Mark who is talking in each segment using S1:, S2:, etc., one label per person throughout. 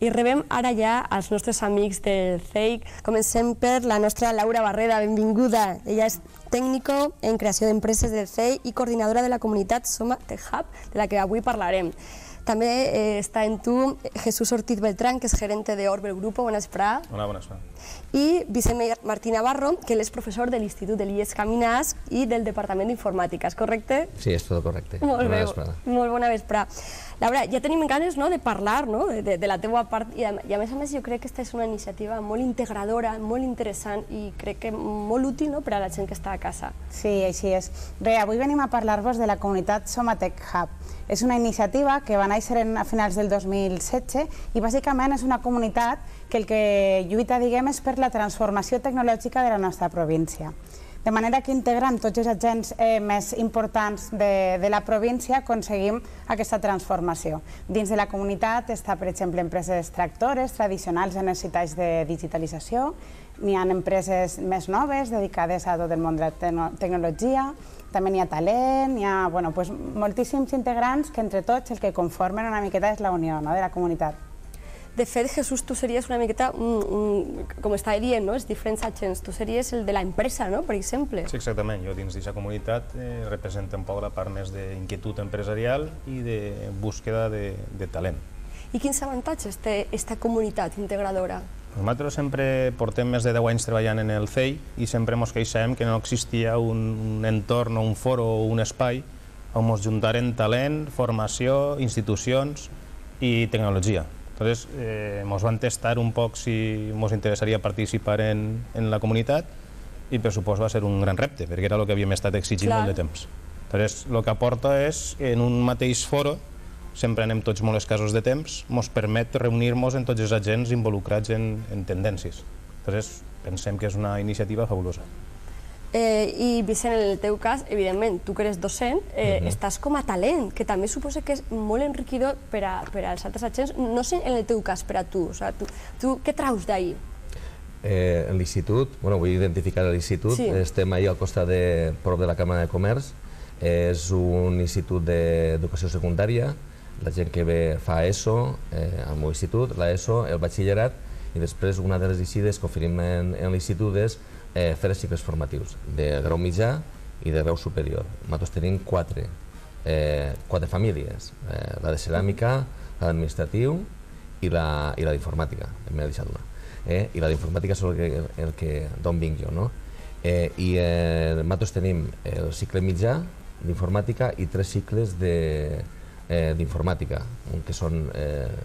S1: I rebem ara ja els nostres amics del CEIC. Comencem per la nostra Laura Barreda, benvinguda. Ella és tècnico en creació d'empreses del CEIC i coordinadora de la comunitat Soma Tech Hub, de la que avui parlarem. També està en tu Jesús Ortiz Beltrán, que és gerente de Orbel Grupo. Bona vesprada.
S2: Hola, bona vesprada.
S1: I Vicent Martí Navarro, que és professor de l'Institut de l'IES Caminàs i del Departament d'Informàtica, és correcte?
S3: Sí, és tot correcte.
S1: Molt bé, molt bona vesprada. Laura, ja tenim ganes de parlar de la teva part i a més jo crec que aquesta és una iniciativa molt integradora, molt interessant i crec que molt útil per a la gent que està a casa.
S4: Sí, així és. Bé, avui venim a parlar-vos de la comunitat Soma Tech Hub. És una iniciativa que va néixer a finals del 2016 i bàsicament és una comunitat que el que lluita, diguem, és per la transformació tecnològica de la nostra província. De manera que integrant tots els agents més importants de la província aconseguim aquesta transformació. Dins de la comunitat està, per exemple, empreses tractores tradicionals en els citats de digitalització, n'hi ha empreses més noves dedicades a tot el món de la tecnologia, també n'hi ha talent, n'hi ha moltíssims integrants que entre tots el que conformen una miqueta és la unió de la comunitat.
S1: De fet, Jesús, tu series una miqueta, com estava dient, els diferents agents, tu series el de l'empresa, per exemple.
S2: Sí, exactament. Jo dins d'aquesta comunitat represento un poc la part més d'inquietud empresarial i de búsqueda de talent.
S1: I quins avantatges té aquesta comunitat integradora?
S2: Nosaltres sempre portem més de 10 anys treballant en el CEI i sempre ens queixàvem que no existia un entorn o un foro o un espai on ens juntaren talent, formació, institucions i tecnologia. Entonces, ens van testar un poc si ens interessaria participar en la comunitat i per supost va ser un gran repte, perquè era el que havíem estat exigint molt de temps. Entonces, el que aporta és que en un mateix foro, sempre anem tots molt escassos de temps, ens permet reunir-nos en tots els agents involucrats en tendències. Entonces, pensem que és una iniciativa fabulosa.
S1: I Vicent, en el teu cas, evidentment, tu que eres docent, estàs com a talent, que també suposa que és molt enriquidor per als altres agents, no sé en el teu cas per a tu, tu què traus d'ahir?
S3: En l'institut, vull identificar l'institut, estem ahir al costat prop de la Càmera de Comerç, és un institut d'educació secundària, la gent que ve fa ESO al meu institut, l'ESO, el batxillerat, i després una de les decides que oferim en l'institut és fer els cicles formatius de grau mitjà i de grau superior. Nosaltres tenim quatre famílies, la de ceràmica, la d'administratiu i la d'informàtica, m'he deixat una. I la d'informàtica és d'on vinc jo. I nosaltres tenim el cicle mitjà d'informàtica i 3 cicles d'informàtica, que són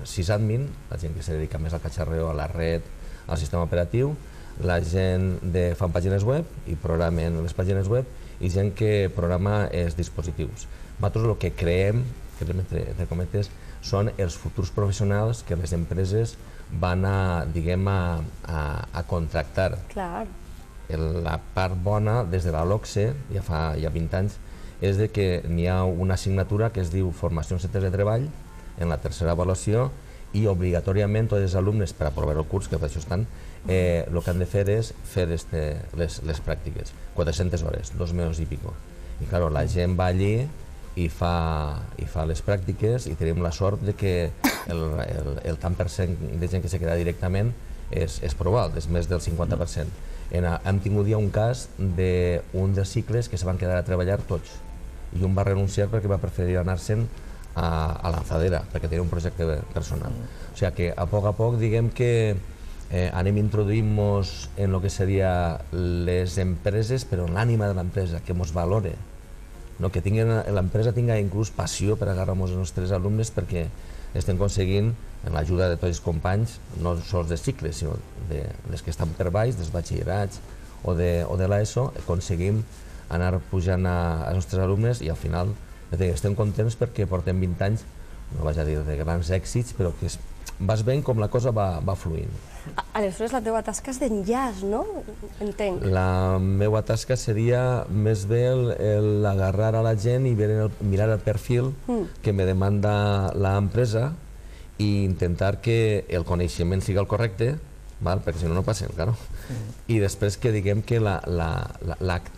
S3: sysadmin, la gent que se dedica més al catxarreo, a la red, al sistema operatiu, la gent que fan pàgines web i programen les pàgines web i gent que programa els dispositius. Nosaltres el que creem, entre cometes, són els futurs professionals que les empreses van a contractar. La part bona, des de la LOCSE, ja fa 20 anys, és que n'hi ha una assignatura que es diu Formació en centres de treball, en la tercera avaluació, i obligatòriament tots els alumnes, per aprovar el curs, que per això estan, el que han de fer és fer les pràctiques, 400 hores, 2 mesos i pico. I clar, la gent va allí i fa les pràctiques i tenim la sort que el tant per cent de gent que se queda directament és prou alt, és més del 50%. Hem tingut ja un cas d'un dels cicles que se van quedar a treballar tots i un va renunciar perquè va preferir anar-se'n a Lanzadera, perquè tenia un projecte personal. O sigui que a poc diguem que anem introduint-nos en el que seria les empreses, però en l'ànima de l'empresa, que ens valore, que l'empresa tinga inclús passió per agarrar-nos els nostres alumnes perquè estem aconseguint, amb l'ajuda de tots els companys, no sols de cicles, sinó dels que estan per baix, dels batxillerats o de l'ESO, aconseguim anar pujant als nostres alumnes i al final estem contents perquè portem 20 anys, no vaig a dir de grans èxits, però que vas veient com la cosa va fluint.
S1: Aleshores, la teva tasca és d'enllaç, no? Entenc.
S3: La meva tasca seria més bé l'agarrar a la gent i mirar el perfil que me demanda l'empresa i intentar que el coneixement sigui el correcte, perquè si no, no passem, claro. I després que diguem que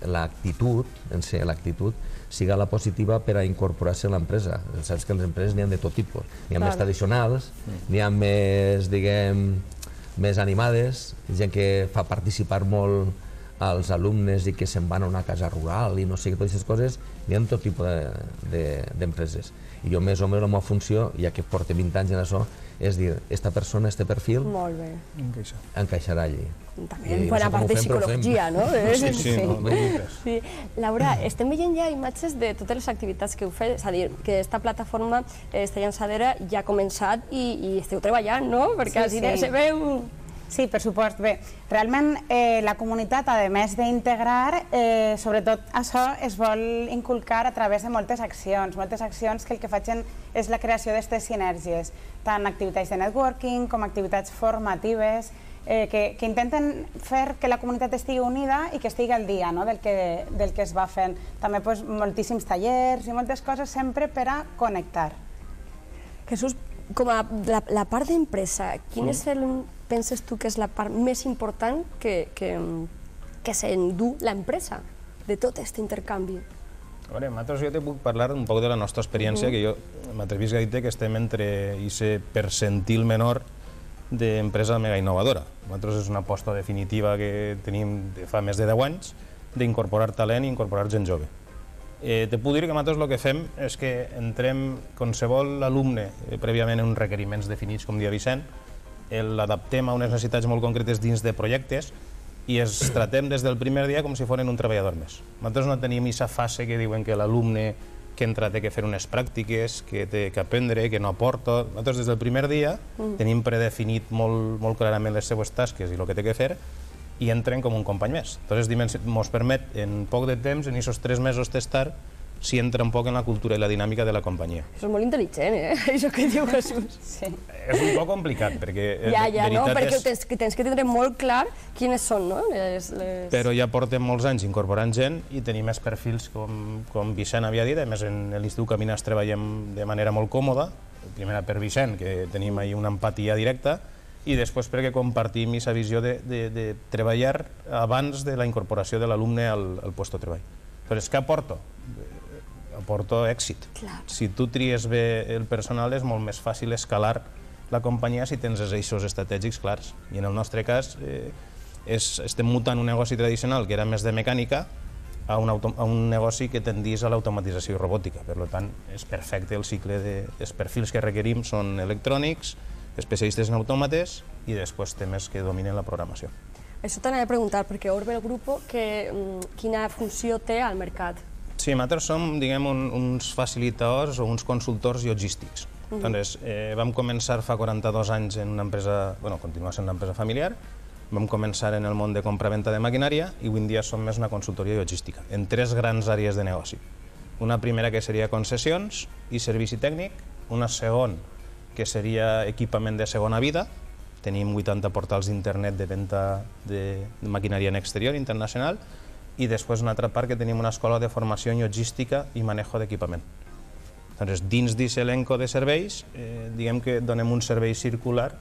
S3: l'actitud, en si l'actitud, siga la positiva per a incorporar-se a l'empresa. Saps que les empreses n'hi ha de tot tipus. N'hi ha més tradicionals, n'hi ha més, diguem, més animades, gent que fa participar molt als alumnes i que se'n van a una casa rural i no sé què, totes aquestes coses, n'hi ha tot tipus d'empreses. I jo més o menys la meva funció, ja que porto 20 anys en això, és dir, esta persona, este perfil, encaixarà allí.
S1: També bona part de psicologia, no?
S2: Sí.
S1: Laura, estem veient ja imatges de totes les activitats que heu fet, és a dir, que aquesta plataforma, esta llançadera, ja ha començat i esteu treballant, no? Perquè així se veu...
S4: Sí, per supost. Bé, realment la comunitat, a més d'integrar, sobretot això es vol inculcar a través de moltes accions que el que facin és la creació d'aquestes sinergies, tant activitats de networking com activitats formatives, que intenten fer que la comunitat estigui unida i que estigui al dia del que es va fent. També moltíssims tallers i moltes coses sempre per a connectar.
S1: Jesús, com a la part d'empresa, quin és penses tu que és la part més important que s'endú l'empresa de tot aquest intercanvi?
S2: A veure, nosaltres jo te puc parlar un poc de la nostra experiència, que jo m'atrevisc a dir que estem entre aquest percentil menor d'empresa mega innovadora. Nosaltres és una aposta definitiva que tenim de fa més de 10 anys d'incorporar talent i incorporar gent jove. Te puc dir que nosaltres el que fem és que entrem qualsevol alumne prèviament en uns requeriments definits, com dia Vicent, l'adaptem a unes necessitats molt concretes dins de projectes i els tratem des del primer dia com si fossin un treballador més. Nosaltres no tenim aquesta fase que diuen que l'alumne que entra té que fer unes pràctiques, que té que aprendre, que no aporta. Nosaltres des del primer dia tenim predefinit molt clarament les seues tasques i el que té que fer i entren com un company més. Llavors ens permet en poc de temps, en aquests 3 mesos testar, si entra un poc en la cultura i la dinàmica de la companyia.
S1: Això és molt intel·ligent, això que diu Jesús.
S2: És un poc complicat, perquè...
S1: Ja, perquè tens que tindre molt clar quines són, no?
S2: Però ja portem molts anys incorporant gent i tenim més perfils, com Vicent havia dit. A més, en l'Institut Caminas treballem de manera molt còmoda, primera per Vicent, que tenim ahí una empatia directa, i després perquè compartim aquesta visió de treballar abans de la incorporació de l'alumne al lloc de treball. Però és que aporto èxit. Si tu tries bé el personal és molt més fàcil escalar la companyia si tens els eixos estratègics clars. I en el nostre cas estem mutant un negoci tradicional que era més de mecànica a un negoci que tendís a l'automatització i robòtica. Per tant, és perfecte el cicle dels perfils que requerim són electrònics, especialistes en autòmates i després temes que dominen la programació.
S1: Això t'anava a preguntar, perquè Orbe el Grupo, quina funció té al mercat?
S2: Sí, nosaltres som, diguem, uns facilitadors o uns consultors logístics. Vam començar fa 42 anys en una empresa, continua sent una empresa familiar, vam començar en el món de compra-venta de maquinària i avui en dia som més una consultoria logística, en 3 grans àrees de negoci. Una primera que seria concessions i servici tècnic, una segona que seria equipament de segona vida, tenim 80 portals d'internet de venda de maquinària en exterior internacional, i després una altra part que tenim una escola de formació en logística i manejo d'equipament. Dins d'aquest elenco de serveis, diguem que donem un servei circular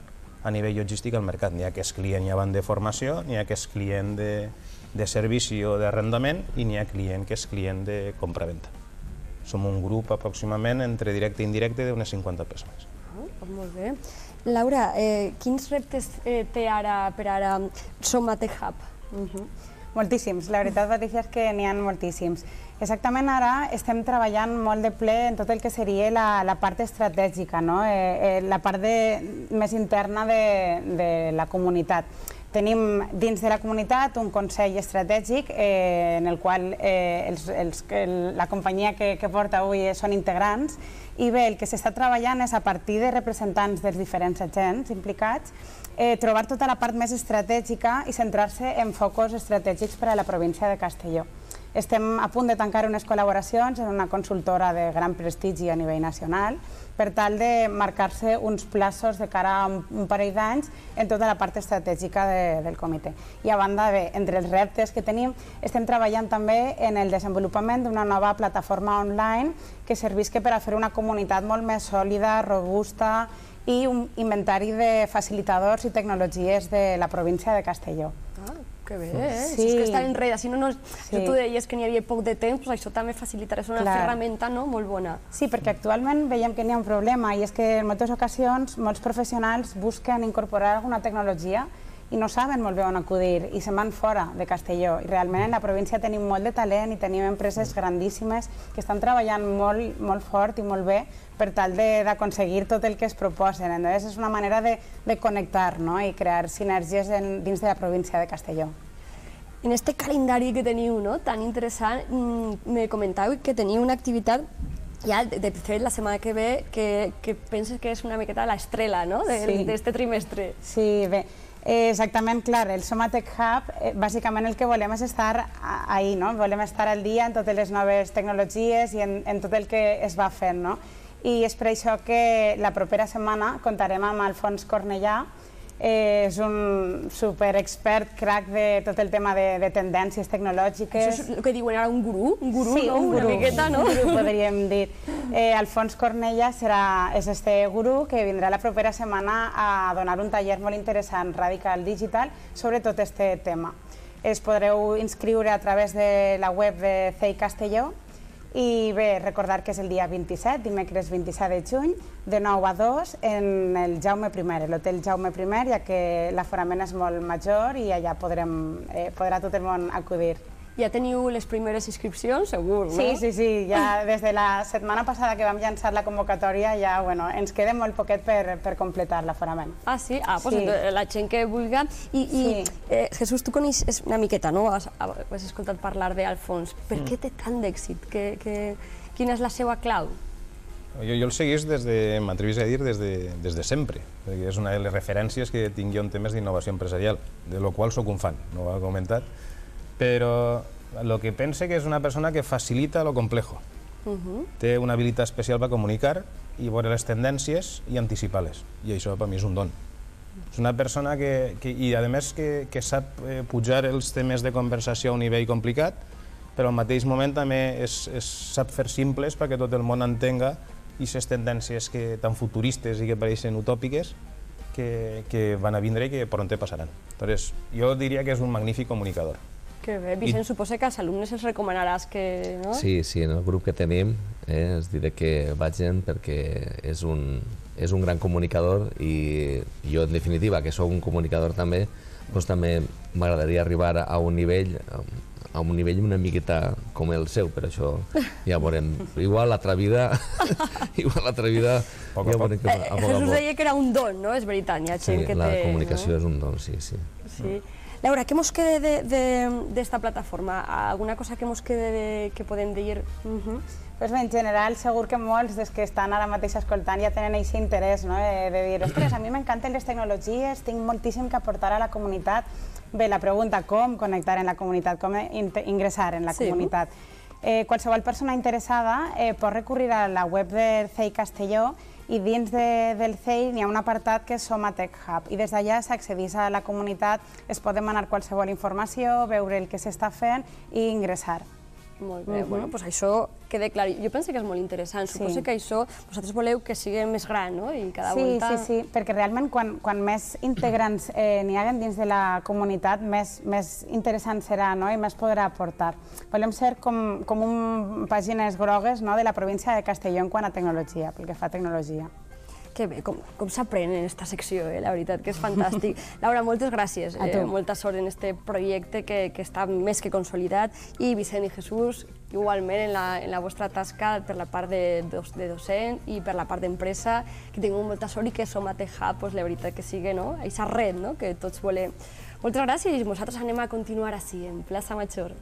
S2: a nivell logístic al mercat. N'hi ha que és client ja van de formació, n'hi ha que és client de servici o d'arrendament i n'hi ha client que és client de compra-venta. Som un grup aproximadament entre directe i indirecte d'unes 50 persones.
S1: Molt bé. Laura, quins reptes té ara per ara Soma Tech Hub?
S4: Moltíssims, la veritat, Patricia, és que n'hi ha moltíssims. Exactament ara estem treballant molt de ple en tot el que seria la part estratègica, la part més interna de la comunitat. Tenim dins de la comunitat un consell estratègic en el qual la companyia que porta avui són integrants i bé, el que s'està treballant és a partir de representants dels diferents agents implicats trobar tota la part més estratègica i centrar-se en focus estratègics per a la província de Castelló. Estem a punt de tancar unes col·laboracions en una consultora de gran prestigi a nivell nacional per tal de marcar-se uns plaços de cara a un parell d'anys en tota la part estratègica del comitè. I a banda, entre els reptes que tenim, estem treballant també en el desenvolupament d'una nova plataforma online que servisca per a fer una comunitat molt més sòlida, robusta i un inventari de facilitadors i tecnologies de la província de Castelló.
S1: Ah, que bé,
S4: Sí.
S1: Si és que estar enrere, si no,
S4: Sí.
S1: tu deies que n'hi havia poc de temps, doncs això també facilitarà, és una
S4: Clar.
S1: ferramenta molt bona.
S4: Sí, perquè actualment veiem que n'hi ha un problema i és que en moltes ocasions molts professionals busquen incorporar alguna tecnologia i no saben molt bé on acudir i se'n van fora de Castelló. I realment en la província tenim molt de talent i tenim empreses grandíssimes que estan treballant molt fort i molt bé per tal d'aconseguir tot el que es proposen. Llavors és una manera de connectar i crear sinergies dins de la província de Castelló.
S1: En este calendari que teniu tan interessant, me comentàveu que teniu una activitat ja, de fet, la setmana que ve, que penses que és una miqueta l'estrela d'aquest trimestre.
S4: Sí, bé, exactament, clar, el Somatech Hub, bàsicament el que volem és estar ahí, volem estar al dia en totes les noves tecnologies i en tot el que es va fent, i és per això que la propera setmana comptarem amb Alfons Cornellà. És un superexpert, crac de tot el tema de tendències tecnològiques.
S1: Això és el que diuen ara un gurú,
S4: Sí, un
S1: una
S4: gurú,
S1: miqueta, no?
S4: un gurú, podríem dir. Alfons Cornellà és este gurú que vindrà la propera setmana a donar un taller molt interessant, Radical Digital, sobre tot este tema. Es podreu inscriure a través de la web de CEI Castelló. I bé, recordar que és el dia 27, dimecres 27 de juny, de 9 a 2, en el Jaume I, l'hotel Jaume I, ja que l'aforament és molt major i allà podrà tot el món acudir.
S1: Ja teniu les primeres inscripcions, segur, no?
S4: Sí, ja des de la setmana passada que vam llançar la convocatòria ja ens queda molt poquet per completar l'aforament.
S1: Ah, sí? Ah, doncs la gent que vulgui. I Jesús, tu coneixes una miqueta, no? Has escoltat parlar d'Alfons. Per què té tant d'èxit? Quina és la seva clau?
S2: Jo el seguís m'atrevis a dir, des de sempre, perquè és una de les referències que tinc jo en temes d'innovació empresarial, de lo qual soc un fan, no ho ha comentat, però el que pense que és una persona que facilita lo complejo. Té una habilitat especial per comunicar i veure les tendències i anticipar-les, i això per mi és un don. És una persona i a més que sap pujar els temes de conversació a un nivell complicat, però al mateix moment també sap fer simples perquè tot el món entenga aquestes tendències tan futuristes i que pareixen utòpiques que van a vindre i que pronto passaran. Llavors, jo diria que és un magnífic comunicador.
S1: Que bé, Vicent, suposa que als alumnes els recomanaràs que...
S3: Sí, en el grup que tenim els diré que vagin perquè és un gran comunicador i jo, en definitiva, que sóc un comunicador també, doncs també m'agradaria arribar a un nivell una miqueta com el seu, per això ja veurem. Igual l'altra vida ja veurem que a poc a poc.
S1: Jesús deia que era un don, no? És veritat, hi ha gent que té...
S3: Sí, la comunicació és un don, sí.
S1: Laura, què mos queda d'esta plataforma? Alguna cosa que mos queda que podem dir?
S4: Pues bé, en general, segur que molts dels que estan ara mateix escoltant ja tenen aquest interès de dir, ostres, a mi m'encanten les tecnologies, tinc moltíssim que aportar a la comunitat. Bé, la pregunta, com connectar en la comunitat, com ingressar en la comunitat. Qualsevol persona interessada pot recurrir a la web del CEI Castelló i dins del CEI hi ha un apartat que és Somatech Hub i des d'allà s'accedeix a la comunitat, es pot demanar qualsevol informació, veure el que s'està fent i ingressar.
S1: Molt bé, doncs això queda clar. Jo penso que és molt interessant. Suposo que això vosaltres voleu que sigui més gran, no? I cada volta...
S4: Sí, perquè realment quan més integrants n'hi haguen dins de la comunitat, més interessant serà i més podrà aportar. Volem ser com pàgines grogues de la província de Castelló en quant a tecnologia, pel que fa a tecnologia.
S1: Que bé, com s'aprèn en aquesta secció, la veritat que és fantàstic. Laura, moltes gràcies, molta sort en aquest projecte que està més que consolidat i Vicent i Jesús, igualment en la vostra tasca per la part de docent i per la part d'empresa, que tingueu molta sort i que Somatech Hub, la veritat que sigui aquesta red que tots volem. Moltes gràcies i nosaltres anem a continuar així, en Plaça Major.